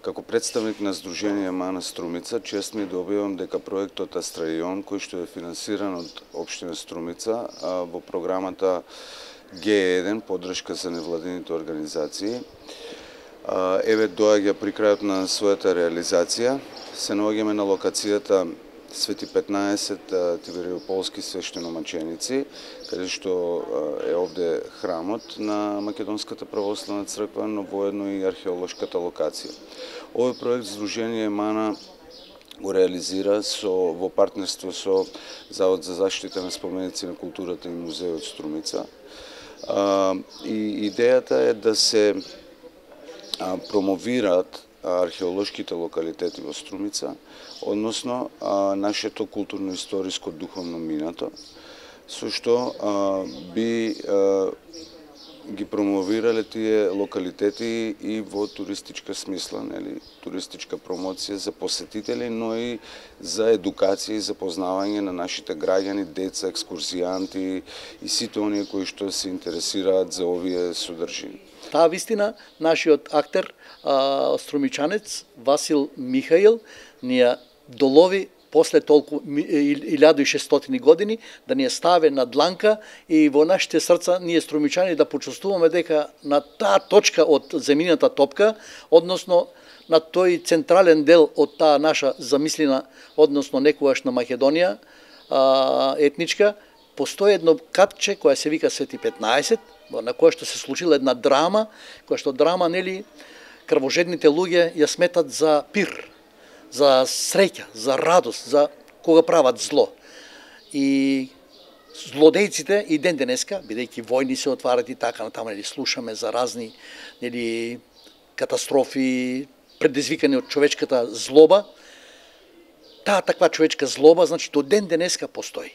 Како представник на Сдружение Мана Струмица, чест ми да објавам дека проектот Астраион, кој што е финансиран од општина Струмица во програмата Г1, поддршка за невладините организации, еве доаѓа при крајот на својата реализација. Се наоѓаме на локацијата Свети 15 Тивериополски свештеномаченици, каде што е овде храмот на Македонската православна црква, но воедно и археолошката локација. Овој проект Сдружение Мана го реализира во партнерство со Завод за заштита на споменици на културата и музејот Струмица. И идејата е да се промовираат археолошките локалитети во Струмица, односно нашето културно-историско духовно минато, со што би ги промовирале тие локалитети и во туристичка смисла, нели, туристичка промоција за посетители, но и за едукација и запознавање на нашите граѓани, деца, екскурзијанти и сите оние кои што се интересираат за овие содржини. Таа вистина, нашиот актер, струмичанец Васил Михаил, ни ја долови после толку 1600 години, да ни ја ставе на дланка и во нашите срца ние струмичани да почувствуваме дека на таа точка од земјината топка, односно на тој централен дел од таа наша замислена, односно некогашна Македонија етничка, постои едно катче која се вика Свети 15, на која што се случила една драма, која што драма, нели, крвожедните луѓе ја сметат за пир, за среќа, за радост, за кога прават зло. И злодејците и ден денеска, бидејќи војни се отварат и така натаму, нели, слушаме за разни, нели, катастрофи предизвикани од човечката злоба, таа таква човечка злоба, значи, до ден денеска постои.